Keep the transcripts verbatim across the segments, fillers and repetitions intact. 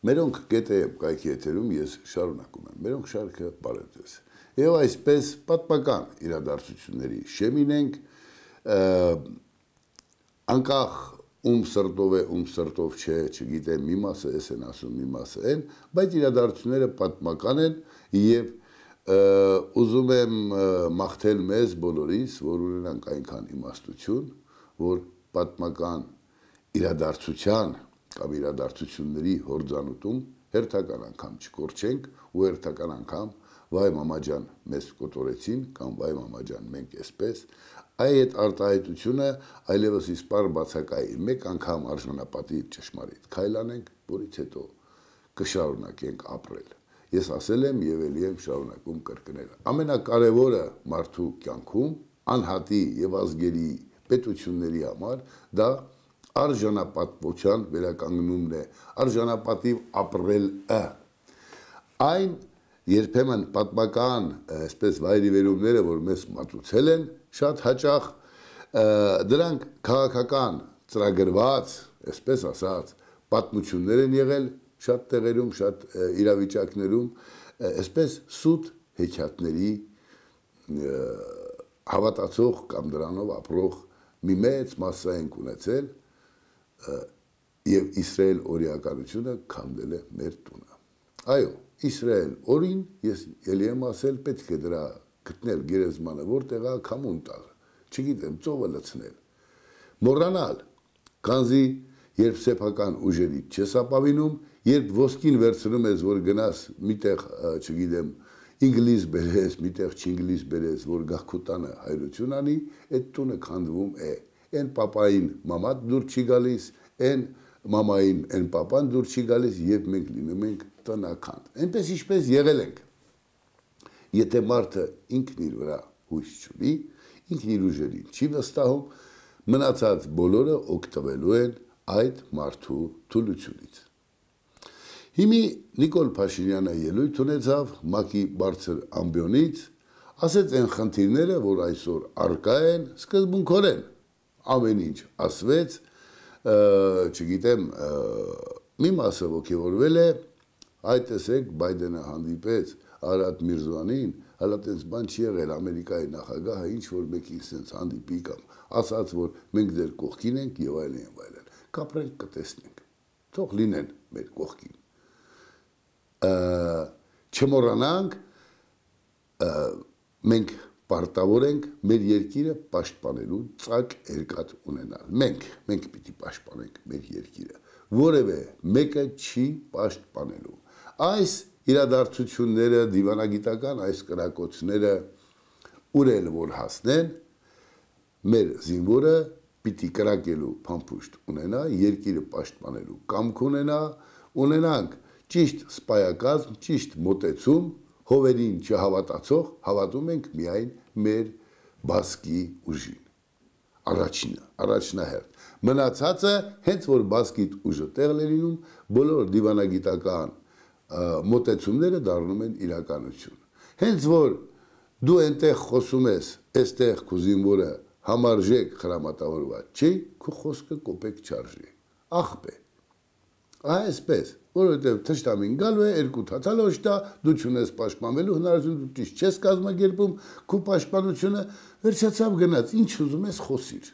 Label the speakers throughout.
Speaker 1: Մերոնք գետե կայքի եթերում ես շարունակում եմ, մերոնք շարքը բարեձեզ։ Եվ այսպես պատմական իրադարձությունների շեմին ենք, անկախ ում սրտով է, ում սրտով չէ, չգիտեմ, մի մասը էս են ասում, մի մասը են, բայց իրադարձությունները պատմական են եւ ուզում եմ մաղթել մեզ բոլորիս, որ ունենանք այնքան իմաստություն, որ պատմական իրադարձության կամ իրադարձությունների հորձանուտում հերթական անգամ չկորչենք ու հերթական անգամ վայ մամաջան մեզ կոտորեցին կամ վայ մամաջան մենք էսպես այդ արտահայտությունը այլևս իսպար բացակայի մեկ անգամ արժանապատիվ ճշմարիտ քայլ անենք, որից հետո կշարունակենք ապրել։ Ես ասել եմ եւ ելի եմ շարունակում կրկնել։ Ամենակարևորը մարդու կյանքում անհատի եւ ազգերի պետությունների համար դա արժանապատվության վերականգնումն է, արժանապատիվ ապրելը։ Այն երբեմն պատմական, այսպես վայրիվերումները, որ մեզ մատուցել են, շատ հաճախ դրանք քաղաքական ծրագրված, այսպես ասած, պատմություններ են եղել շատ տեղերում, շատ իրավիճակներում, այսպես սուտ հեքիաթների հավատացող կամ դրանով ապրող մի մեծ մասսա ենք ունեցել եւ Իսրայել օրիականությունը քանդել է մեր տունը։ Այո, Իսրայել օրին ես ելի եմ ասել պետք է դրա գտնել գերեզմանը որտեղ է քամուն տալ, չգիտեմ, ծովը լցնել։ Մոռանալ, քանզի երբ սեփական ուժերից չես ապավինում, երբ ոսկին վերցնում ես, որ գնաս միտեղ, չգիտեմ, ինգլիզ բերես, միտեղ չինգլիզ բերես, որ գախքուտանը հայրություն անի, այդ տունը քանդվում է։ Այն պապային մամատ դուր չի գալիս, այն մամային այն պապան դուր չի գալիս եւ մենք լինում ենք տնական։ Այնպես ինչպես եղել ենք։ Եթե մարդը ինքն իր վրա հույս չունի, ինքն իր ուժերին չի վստահում, մնացած բոլորը օգտվելու են այդ մարդու թուլությունից։ Հիմի Նիկոլ Փաշինյանը ելույթ ունեցավ ՄԱԿ-ի բարձր ամբիոնից, ասեց այն խնդիրները, որ այսօր առկա են, սկզբունքորեն ամեն ինչ ասվեց, չգիտեմ, մի մասը ոգևորվել է, այդ տեսեք Բայդենը հանդիպեց Արադ Միրզոյանին, հələ տենց բան չի եղել Ամերիկայի նախագահը ինչ որ մեկին sense հանդիպի կամ ասաց, որ մենք ձեր կողքին ենք եւ այլն եւ այլն։ Կապրենք կտեսնենք։ Թող լինեն մեր կողքին։ Չմոռանանք մենք պարտավոր ենք մեր երկիրը պաշտպանելու ծակ երկաթ ունենալ։ Մենք, մենք պիտի պաշտպանենք մեր երկիրը։ Որևէ մեկը չի պաշտպանելու։ Այս իրադարձությունները, դիվանագիտական այս կրակոցները ուր էլ որ հասնեն, մեր զինվորը պիտի կրակելու փամփուշտ ունենա, երկիրը պաշտպանելու կամք ունենա, ունենանք ճիշտ սպայակազմ, ճիշտ մոտեցում, հովերին չհավատացող, հավատում ենք միայն մեր բասկի ուժին։ Առաջինը, առաջնահերթ։ Մնացածը հենց որ բասկիտ ուժը տեղ լինում, բոլոր դիվանագիտական մոտեցումները դառնում են իրականություն։ Հենց որ դու այնտեղ խոսում ես, այստեղ քո զինվորը համարժեք խրամատավորված չի, քո խոսքը կոպեկ չարժի։ Աղբ է։ Այսպես, որովհետև թշնամին գալու է երկու թաթալոշ տա, դու չունես պաշտպանվելու հնարավորություն, դու ճիշտ չես կազմակերպում, քո պաշտպանությունը վերջացավ գնաց, ինչ ուզում ես խոսիր։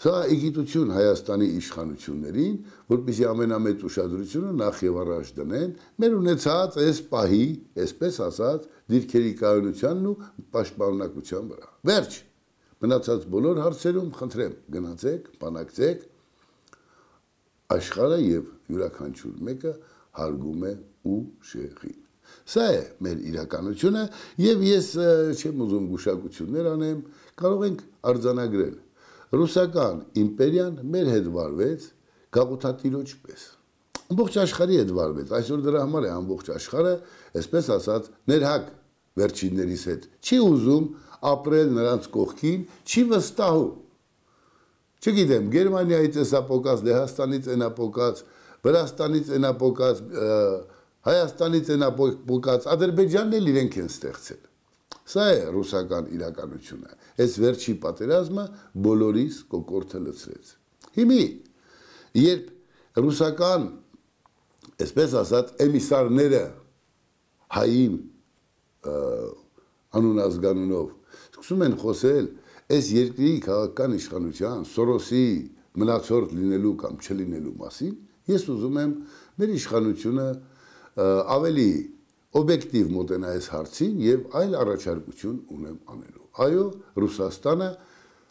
Speaker 1: Սա իգիտություն Հայաստանի իշխանություններին, որպեսզի ամենամեծ ուշադրությունը նախ եւ առաջ դնեն մեր ունեցած այս պահի, այսպես ասած, դիրքերի կայունությանն ու պաշտպանունակության վրա։ Վերջ, մնացած բոլոր հարցերում խնդրեմ, գնացեք, բանակցեք, աշխարհը եւ յուրաքանչյուր մեկը հարգում է ուժեղին։ Սա է մեր իրականությունը եւ ես չեմ ուզում գուշակություններ անեմ, կարող ենք արձանագրել։ Ռուսական իմպերիան մեր հետ վարվեց գաղութատիրոջ պես։ Ամբողջ աշխարհի հետ վարվեց, այսօր դրա համար է ամբողջ աշխարհը, այսպես ասած, ներհակ վերջիններից հետ չի ուզում ապրել նրանց կողքին, չի վստահում։ Չգիտեմ, Գերմանիայից էսապոկած, Լեհաստանից էնապոկած, Վրաստանից էնապոկած, Հայաստանից էնապոկած, Ադրբեջանն էլ իրենք են ստեղծել։ Սա է ռուսական իրականությունը։ Այս վերջի պատերազմը բոլորիս կոկորդը լցրեց։ Հիմի, երբ ռուսական այսպես ասած էմիսարները հային անուն ազգանունով սկսում են խոսել այս երկրի քաղաքական իշխանության Սորոսի մնացորդ լինելու կամ չլինելու մասին, ես ուզում եմ մեր իշխանությունը ավելի օբյեկտիվ մոտենա այս հարցին եւ այլ առաջարկություն ունեմ անելու։ Այո, Ռուսաստանը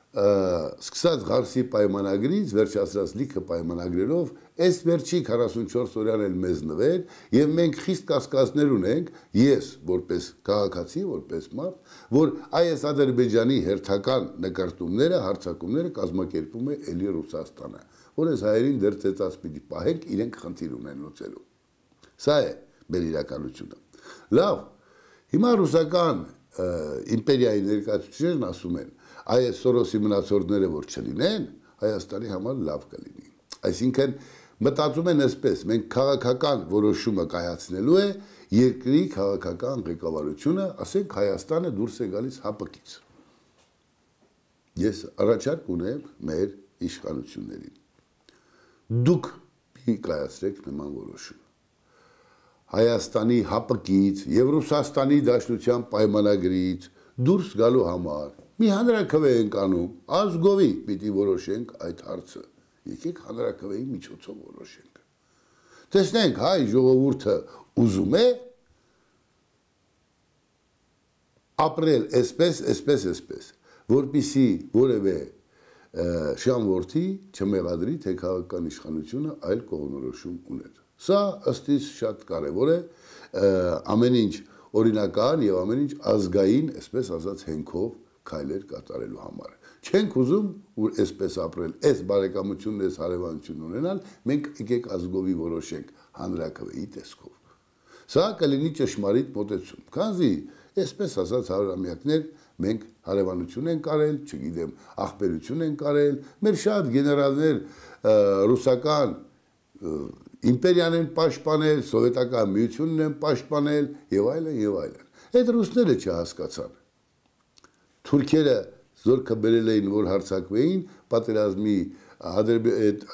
Speaker 1: սկսած Ղարսի պայմանագրից վերջացած լիքը պայմանագրերով այս վերջի քառասունչորս օրյան էլ մեզ նվեր եւ մենք խիստ կասկածներ ունենք, ես որպես քաղաքացի, որպես մարդ, որ այս Ադրբեջանի հերթական նկարտումները, հարձակումները կազմակերպում է էլի Ռուսաստանը, որ այս հայերին դեռ ծեծած պիտի պահենք, իրենք խնդիր ունեն լուծելու։ Սա է մեր իրականությունը։ Լավ, հիմա ռուսական իմպերիայի ներկայացուցիչներն ասում են, այս Սորոսի մնացորդները որ չլինեն, Հայաստանի համար լավ կլինի։ Այսինքն մտածում են այսպես, մենք քաղաքական որոշումը կայացնելու է երկրի քաղաքական ղեկավարությունը, ասենք Հայաստանը դուրս է գալիս ՀԱՊԿ-ից։ Ես առաջարկ ունեմ մեր իշխանություններին։ Դուք մի կայացրեք նման որոշում։ Հայաստանի ՀԱՊԿ-ից եւ Ռուսաստանի Դաշնության պայմանագրից դուրս գալու համար մի հանրաքվե ենք անում, ազգովի պիտի որոշենք այդ հարցը։ Եկեք հանրաքվեի միջոցով որոշենք։ Տեսնենք հայ ժողովուրդը ուզում է ապրել այսպես, այսպես, այսպես, որպեսզի որևէ շամորդի չմեղադրի, թե քաղաքական իշխանությունը այլ կողմնորոշում ուներ։ Սա ըստ իս շատ կարևոր է, ամեն ինչ օրինական եւ ամեն ինչ ազգային, այսպես ասած, հենքով քայլեր կատարելու համար։ Չենք ուզում որ այսպես ապրել, այս բարեկամությունն, այս հարևանությունն ունենալ, մենք եկեք ազգովի որոշենք հանրաքվեի տեսքով։ Սա կլինի ճշմարիտ մոտեցում, քանզի այսպես ասած հարյուրամյակներ մենք հարևանություն ենք արել, չգիտեմ, ախպերություն ենք արել, մեր շատ գեներալներ ռուսական իմպերիան են պաշտպանել, սովետական միությունն են պաշտպանել եւ այլն եւ այլն։ Այդ ռուսները չհասկացան։ Թուրքերը զորքը բերել էին, որ հարձակվեին, պատերազմի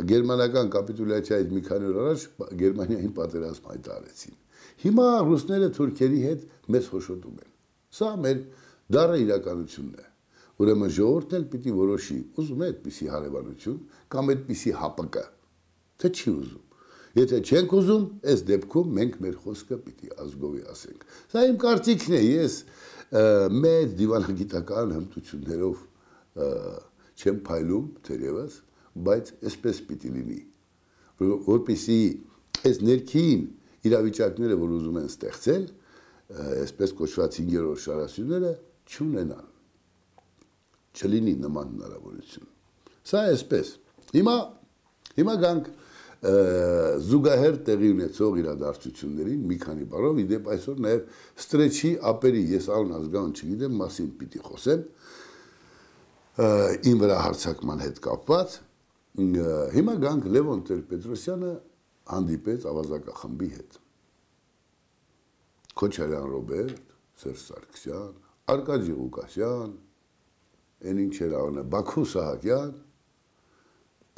Speaker 1: գերմանական կապիտուլյացիայից մի քանի օր առաջ Գերմանիային պատերազմ հայտարարեցին։ Հիմա ռուսները թուրքերի հետ մեզ հոշոտում են։ Սա մեր դառը իրականությունն է։ Ուրեմն ժողովուրդն էլ պիտի որոշի, ուզում է այդպիսի հարևանություն կամ այդպիսի ՀԱՊԿ, թե չի ուզում։ Եթե չենք ուզում, այս դեպքում մենք մեր խոսքը պիտի ազգովի ասենք։ Սա իմ կարծիքն է, ես մեծ դիվանագիտական հմտություններով չեմ փայլում թերևս, բայց այսպես պիտի լինի, որպեսզի այս ներքին իրավիճակները, որ ուզում են ստեղծել, այսպես կոչված հինգերորդ շարասյունները չունենան, չլինի նման հնարավորություն։ Սա այսպես։ Հիմա հիմա գանք զուգահեռ տեղի ունեցող իրադարձություններին մի քանի բառով, իդեպ այսօր նաև ստրեչի ապերի, ես անուն ազգանուն չգիտեմ, մասին պիտի խոսեմ, իմ վրա հարձակման հետ կապված, հիմա գանք Լևոն Տեր-Պետրոսյանը հանդիպեց ավազակախմբի հետ։ Քոչարյան Ռոբերտ, Սերժ Սարգսյան, Արկադի Ղուկասյան, այն ինչ էր անունը, Բաքու Սահակյան,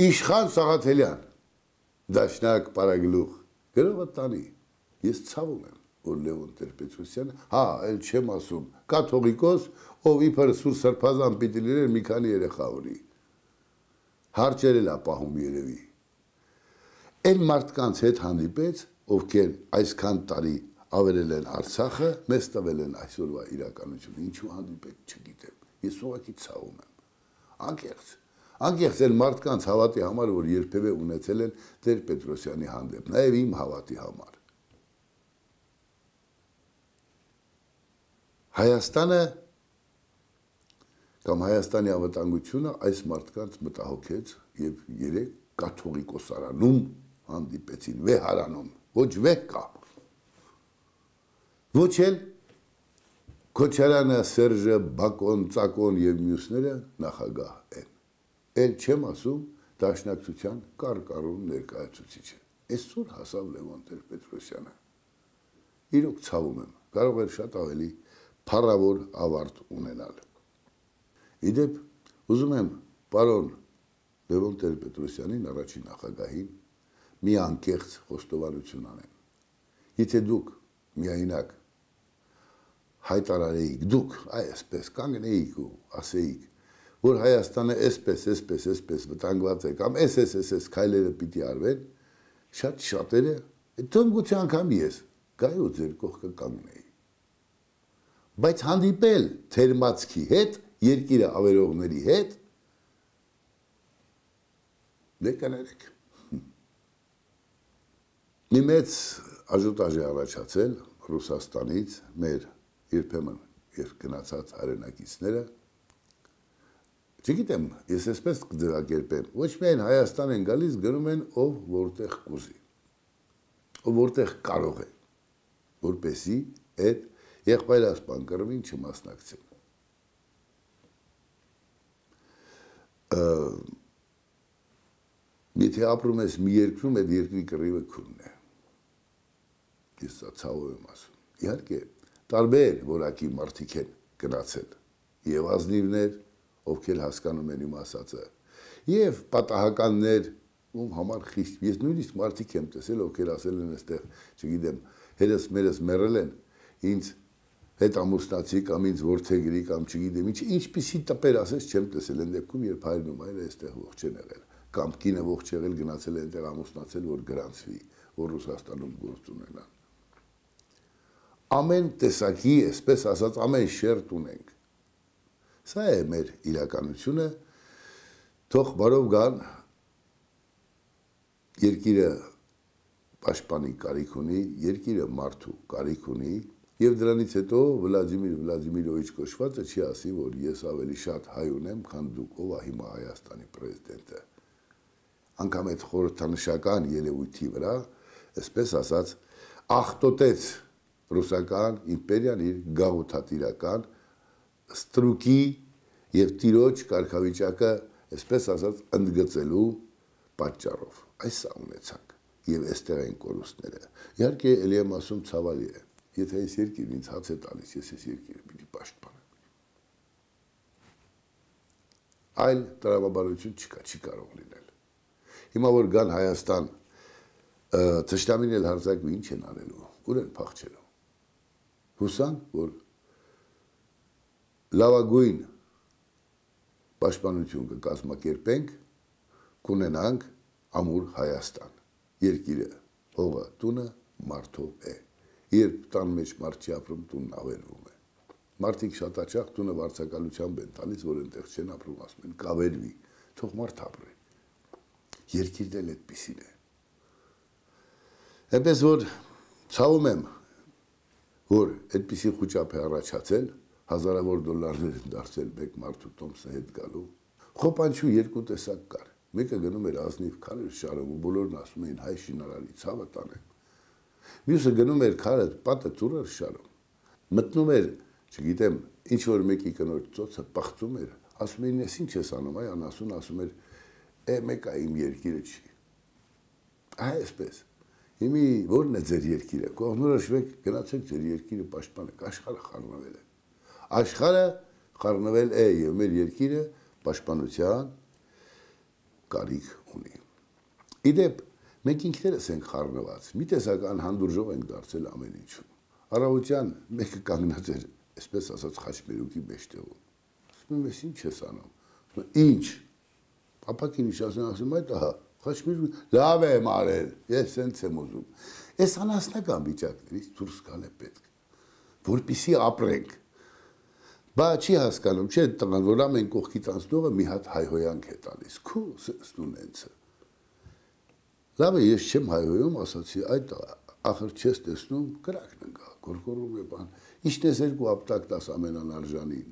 Speaker 1: Իշխան Սաղաթելյան, Դաշնակ Պարագլուխ, գրողը տանի, ես ցավում եմ, որ Լևոն Տեր-Պետրոսյանը, հա, էլ չեմ ասում, կաթողիկոս, ով իբր Սուր Սրբազան պիտի լիներ մի քանի երեխա ունի, հարճեր էլ ապահում երևի։ Այն մարդկանց հետ հանդիպեց, ովքեր այսքան տարի ավերել են Արցախը, մեզ տվել են այսօրվա իրականությունը, ինչու հանդիպեք չգիտեմ, ես ուղղակի ցավում եմ, անկեղծ, անկեղծ են մարդկանց հավատի համար, որ երբևէ ունեցել են Տեր-Պետրոսյանի հանդեպ, նաև իմ հավատի համար։ Հայաստանը կամ Հայաստանի անվտանգությունը այս մարդկանց մտահոգեց եւ երեք կաթողիկոսարանում հանդիպեցին, վեհարանում, ոչ վեհ կա։ Ոչ էլ Քոչարյանը, Սերժը, Բակոն, Ծակոն եւ մյուսները նախագահ են։ Էլ չեմ ասում Դաշնակցության կարկառուն ներկայացուցիչը։ Այսօր հասավ Լևոն Տեր-Պետրոսյանը։ Իրոք ցավում եմ, կարող էր շատ ավելի փառավոր ավարտ ունենալ։ Իդեպ ուզում եմ պարոն Լևոն Տեր-Պետրոսյանին, առաջին նախագահին, մի անկեղծ խոստովանություն անեմ։ Եթե դուք միայնակ հայտարարեիք, դուք այսպես կանգնեիք ու ասեիք, որ Հայաստանը այսպես, այսպես, այսպես վտանգված է, կամ այս, այս, այս, այս քայլերը պիտի արվեն, շատ շատերը, թողնգուցի անգամ ես, գայի ու ձեր կողքը կանգնեի։ Բայց հանդիպել թերմացքի հետ, երկիրը ավերողների հետ, դե կներեք։ Մի մեծ աժուտաժ է առաջացել Ռուսաստանից մեր երբեմն գնացած հայրենակիցները, չգիտեմ, ես այսպես կձևակերպեմ, ոչ միայն Հայաստան են գալիս, գնում են ով որտեղ կուզի, ով որտեղ կարող է, որպեսզի այդ եղբայրասպան կռվին չմասնակցեն։ Եթե ապրում ես մի երկրում, այդ երկրի կռիվը քունն է։ Ես սա ցավով եմ ասում։ Իհարկե, տարբեր որակի մարդիկ են գնացել, եւ ազնիվներ, ովքեր հասկանում են իմ ասածը, եւ պատահականներ, ում համար խիստ, ես նույնիսկ մարդիկ եմ տեսել, ովքեր ասել են այստեղ, չգիտեմ, հերս մերս մեռել են, ինձ հետ ամուսնացի կամ ինձ որդեգրի կամ չգիտեմ, ինչ ինչպիսի տպեր ասես չեմ տեսել, այն դեպքում երբ հայրն ու մայրը այստեղ ողջ են եղել, կամ կինը ողջ եղել գնացել են այդտեղ ամուսնացել, որ գրանցվի, որ Ռուսաստանում գործ ունենան։ Ամեն տեսակի, այսպես ասած, ամեն շերտ ունենք։ Սա է մեր իրականությունը, թող բարով գան, երկիրը պաշտպանի կարիք ունի, երկիրը մարդու կարիք ունի, եւ դրանից հետո Վլադիմիր Վլադիմիրովիչ կոչվածը չի ասի, որ ես ավելի շատ հայ ունեմ, քան դուք, ով է հիմա Հայաստանի պրեզիդենտը։ Անգամ այդ խորհրդանշական ելույթի վրա, այսպես ասած, աղտոտեց ռուսական իմպերիան իր գաղութատիրական ստրուկի եւ տիրոջ կարգավիճակը, այսպես ասած, ընդգծելու պատճառով։ Այս սա ունեցանք եւ այստեղ են կորուստները։ Իհարկե, ելի եմ ասում, ցավալի է, եթե այս երկիրը ինձ հաց է տալիս, ես այս երկիրը պիտի պաշտպանեմ։ Այլ տրամաբանություն չկա, չի կարող լինել։ Հիմա որ գան Հայաստան, թշնամին էլ հարձակվի, ինչ են անելու, ուր են փախչելու։ Հուսան, որ լավագույն պաշտպանություն կկազմակերպենք, կունենանք ամուր Հայաստան։ Երկիրը, հողը, տունը մարդով է։ Երբ տան մեջ մարդ չի ապրում, տունն ավերվում է։ Մարդիկ շատ հաճախ տունը վարձակալությամբ են տալիս, որ այնտեղ չեն ապրում, ասում են կավերվի, թող մարդ ապրի։ Երկիրն էլ այդպիսին է։ Այնպես որ ցավում եմ, որ այդպիսի խուճապ է առաջացել, հազարավոր դոլարներ են դարձել մեկ մարդու տոմսը հետ գալու։ Խոպանչու երկու տեսակ կար։ Մեկը գնում էր ազնիվ քարեր շարում ու բոլորն ասում էին հայ շինարարի ցավը տանեմ։ Մյուսը գնում էր քարը պատը ծուրեր շարում։ Մտնում էր, չգիտեմ, ինչ որ մեկի կնոջ ծոցը պղծում էր, ասում էին, ես ինչ ես անում, այ անասուն ասում էր, է մեկա իմ երկիրը չի։ Այսպես։ Հիմի ո՞րն է ձեր երկիրը։ Կողմնորոշվեք, գնացեք ձեր երկիրը պաշտպանեք, աշխարհը խառնվել է։ Աշխարհը խառնվել է եւ մեր երկիրը պաշտպանության կարիք ունի։ Իդեպ մենք ինքներս ենք խառնված, մի տեսական հանդուրժող ենք դարձել ամեն ինչում։ Առավոտյան մեկը կանգնած էր, այսպես ասած, խաչմերուկի մեջտեղում։ Ասում եմ, ես ինչ ես անում։ Ինչ։ Ապակին իշասն ասում այդ ահա, խաչմերուկ, լավ եմ արել, ես սենց եմ ուզում։ Այս անասնական վիճակներից դուրս գալ է պետք, որպեսզի ապրենք։ Բա չի հասկանում, չէ՞ տղան, որ ամեն կողքից անցնողը մի հատ հայհոյանք է տալիս։ Քո ստունենցը։ Լավ է, ես չեմ հայհոյում, ասացի, այդ ախր չես տեսնում, կրակն ընկա, գորգորում է բան։ Ինչ տեսեր ու ապտակ տաս ամենանարժանին։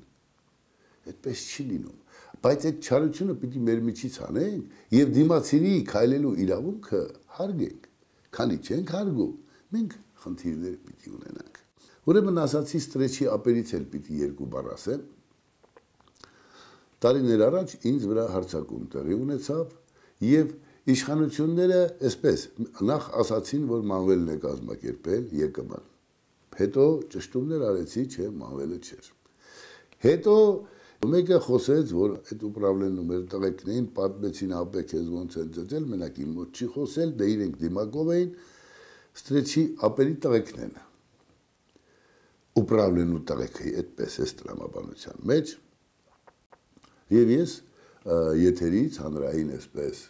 Speaker 1: Այդպես չի լինում։ Բայց այդ չարությունը պիտի մեր միջից անենք եւ դիմացինի քայլելու իրավունքը հարգենք։ Քանի չենք հարգում, մենք խնդիրներ պիտի ունենանք։ Ուրեմն ասացի ստրեչի ապերից էլ պիտի երկու բառ ասեմ։ Տարիներ առաջ ինձ վրա հարձակում տեղի ունեցավ եւ իշխանությունները այսպես նախ ասացին, որ մանվելն է կազմակերպել ԵԿՄ-ն։ Հետո ճշտումներ արեցի, չէ, մանվելը չէր։ Հետո Մեկը խոսեց, որ այդ ուպրավլենու մեր տղեկներին պատմեցին ապե քեզ ոնց են ծծել, մենակ իմ մոտ չի խոսել, դե իրենք դիմակով էին, ստրեչի ապերի տղեկն են։ Ուպրավլենու տղեկի այդպես է տրամաբանության մեջ։ Եվ ես եթերից հանրային այսպես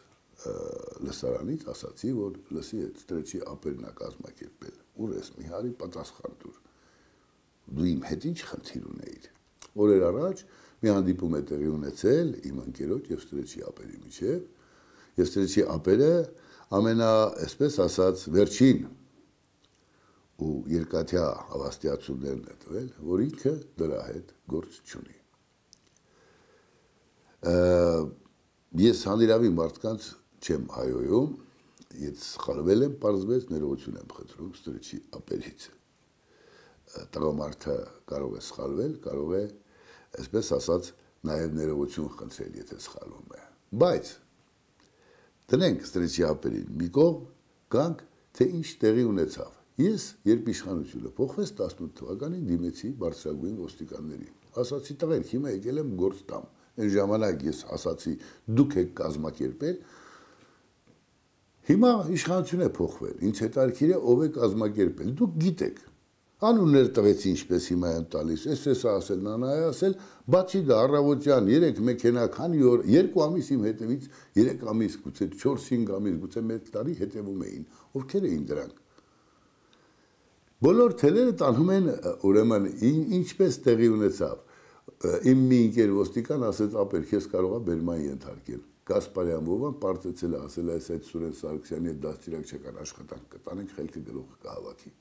Speaker 1: լսարանից ասացի, որ լսի այդ ստրեչի ապերն է կազմակերպել։ Ուր ես մի հարի պատասխան տուր։ Դու իմ հետ ինչ խնդիր ունեիր։ Օրեր առաջ մի հանդիպում է տեղի ունեցել իմ ընկերոջ եւ ստրեչի ապերի միջեւ, եւ ստրեչի ապերը ամենա, այսպես ասած, վերջին ու երկաթյա հավաստիացումներն է տվել, որ ինքը դրա հետ գործ չունի։ Ես հանդիրավի մարդկանց չեմ հայոյում, ես սխալվել եմ, պարզվեց ներողություն եմ խնդրում ստրեչի ապերից։ Տղամարդը կարող է սխալվել, կարող է, այսպես ասած, նաև ներողություն խնդրել, եթե սխալվում է։ Բայց դնենք ստրեչի ապերին մի կողմ, գանք, թե ինչ տեղի ունեցավ։ Ես, երբ իշխանությունը փոխվեց տասնութ թվականին, դիմեցի բարձրագույն ոստիկաններին։ Ասացի, տղերք, հիմա եկել եմ գործ տամ։ Այն ժամանակ ես ասացի, դուք եք կազմակերպել։ Հիմա իշխանությունը փոխվել։ Ինձ հետաքրքիր է ով է կազմակերպել։ Դուք գիտեք։ Անուններ տվեցի ինչպես հիմա եմ տալիս, էս էսա ասել, նանա է ասել, բացի դա առավոտյան երեք մեքենա քանի օր, երկու ամիս իմ հետևից, երեք ամիս, գուցե չորս-հինգ ամիս, գուցե մեկ տարի հետևում էին, ովքեր էին դրանք։ Բոլոր թելերը տանում են, ուրեմն ինչպես տեղի ունեցավ։ Իմ մի ընկեր ոստիկան ասեց, ապեր, քեզ կարող է բերման ենթարկել։ Գասպարյան Վովան պարտեցել է ասել, այս այդ Սուրեն Սարգսյանի հետ դաստիարակչական աշխատանք կտանենք, խելքը գլուխը կհավաքի։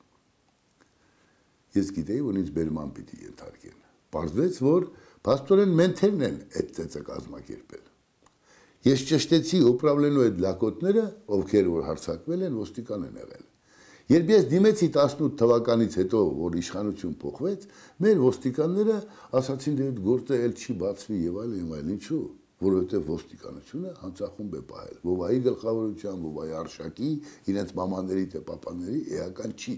Speaker 1: Ես գիտեի, որ ինձ բերման պիտի ենթարկեն։ Պարզվեց, որ փաստորեն մենթերն են այդ ծեծը կազմակերպել։ Ես ճշտեցի ուպրավլենու այդ լակոտները, ովքեր որ հարձակվել են, ոստիկան են եղել։ Երբ ես դիմեցի տասնութ թվականից հետո, որ իշխանություն փոխվեց, մեր ոստիկանները ասացին, դե այդ գործը էլ չի բացվի եւ այլն եւ այլն, ինչու, որովհետեւ ոստիկանությունը հանցախումբ է պահել։ Վովայի գլխավորության, Վովայի արշակի, իրենց մամաների թե պապաների էական չի։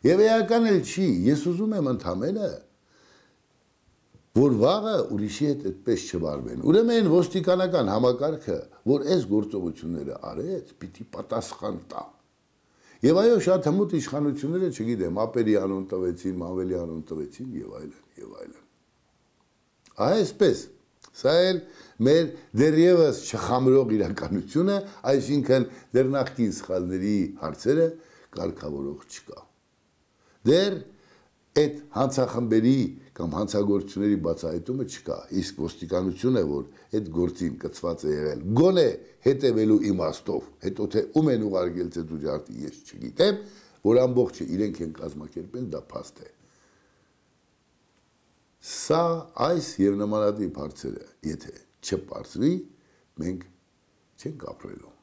Speaker 1: Եվ էական էլ չի, ես ուզում եմ ընդամենը, որ վաղը ուրիշի հետ այդպես չվարվեն։ Ուրեմն ոստիկանական համակարգը, որ այս գործողությունները արեց, պիտի պատասխան տա։ Եվ այո, շատ հմուտ իշխանությունները, չգիտեմ, ապերի անուն տվեցին, մանվելի անուն տվեցին եւ այլն, եւ այլն։ Այսպես, սա էլ մեր դեռևս չխամրող իրականությունը, այսինքն դեռ նախկին սխալների հարցերը կարգավորող չկա։ Դեռ այդ հանցախմբերի կամ հանցագործությունների բացահայտումը չկա, իսկ ոստիկանությունը, որ այդ գործին կցված է եղել, գոնե հետևելու իմաստով, հետո թե ում են ուղարկել ծեծուջարդի, ես չգիտեմ, որ ամբողջը իրենք են կազմակերպել, դա փաստ է։ Սա այս եւ նմանատիպ հարցերը, եթե չպարզվի, մենք չենք ապրելու։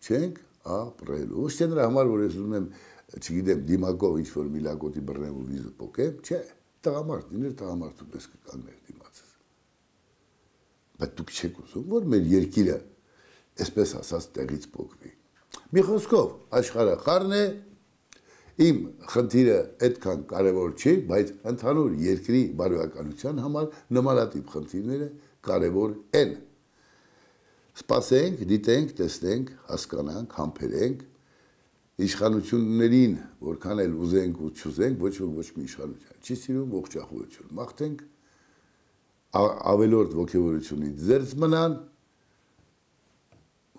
Speaker 1: Չենք ապրելու։ Ոչ թե նրա համար, որ ես ուզում եմ, չգիտեմ, դիմակով ինչ-որ մի լակոտի բռնեմ ու վիզը պոկեմ, չէ, տղամարդ, իներ տղամարդու պես կկանգներ դիմացս։ Բայց դուք չեք ուզում, որ մեր երկիրը, այսպես ասած, տեղից պոկվի։ Մի խոսքով, աշխարհը խառն է, իմ խնդիրը այդքան կարևոր չի, բայց ընդհանուր երկրի բարոյականության համար նմանատիպ խնդիրները կարևոր են։ Սպասենք, դիտենք, տեսնենք, հասկանանք, համբերենք, իշխանություններին, որքան էլ ուզենք ու չուզենք, ոչ ոք ոչ մի իշխանություն չի սիրում ողջախոհություն։ Մաղթենք ավելորդ ոգևորությունից զերծ մնան,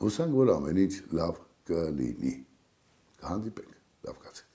Speaker 1: հուսանք, որ ամեն ինչ լավ կլինի։ Կհանդիպենք, լավ կացեք։